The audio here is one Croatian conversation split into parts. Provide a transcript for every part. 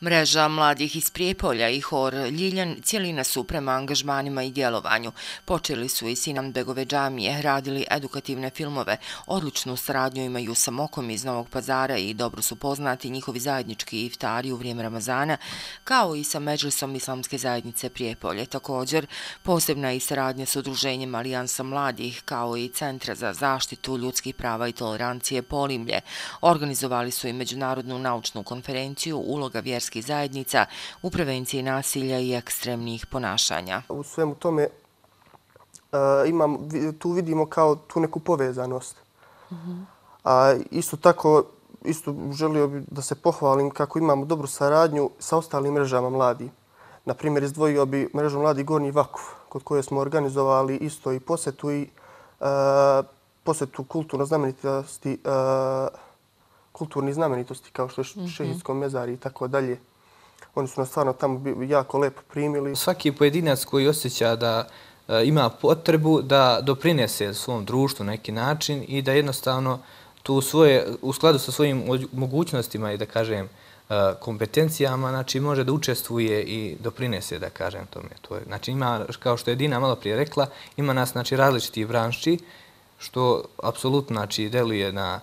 Mreža mladih iz Prijepolja i hor Ljiljan cijelina su prema angažmanima i djelovanju. Počeli su iz Sinambegove džamije, radili edukativne filmove, odličnu saradnju imaju sa Mokom iz Novog Pazara i dobro su poznati njihovi zajednički iftari u vrijeme Ramazana, kao i sa Medžlisom Islamske zajednice Prijepolje. Također, posebna je i saradnja s udruženjem Alijansa mladih, kao i Centra za zaštitu ljudskih prava i tolerancije Polimlje. Organizovali su i međunarodnu naučnu konferenciju Uloga vjerskih zajednica u prevenciji nasilja i ekstremnih ponašanja. U svemu tome tu vidimo kao tu neku povezanost. A isto tako, želio bih da se pohvalim kako imamo dobru saradnju sa ostalim mrežama mladih. Na primjer, izdvojio bi mrežu Mladi Gornji Vakuf, kod koje smo organizovali isto i posjetu kulturnih znamenitosti kao što je Šehidsko mezarje i tako dalje. Oni su nas stvarno tamo jako lepo primili. Svaki pojedinac koji osjeća da ima potrebu da doprinese svom društvu na neki način i da jednostavno u skladu sa svojim mogućnostima i da kažem kompetencijama, znači može da učestvuje i doprinese, da kažem tome. Znači ima, kao što je Dina malo prije rekla, ima nas znači različitih branši što apsolutno znači deluje na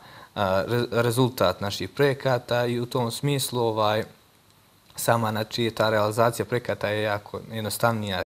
rezultat naših projekata i u tom smislu sama ta realizacija projekata je jako jednostavnija.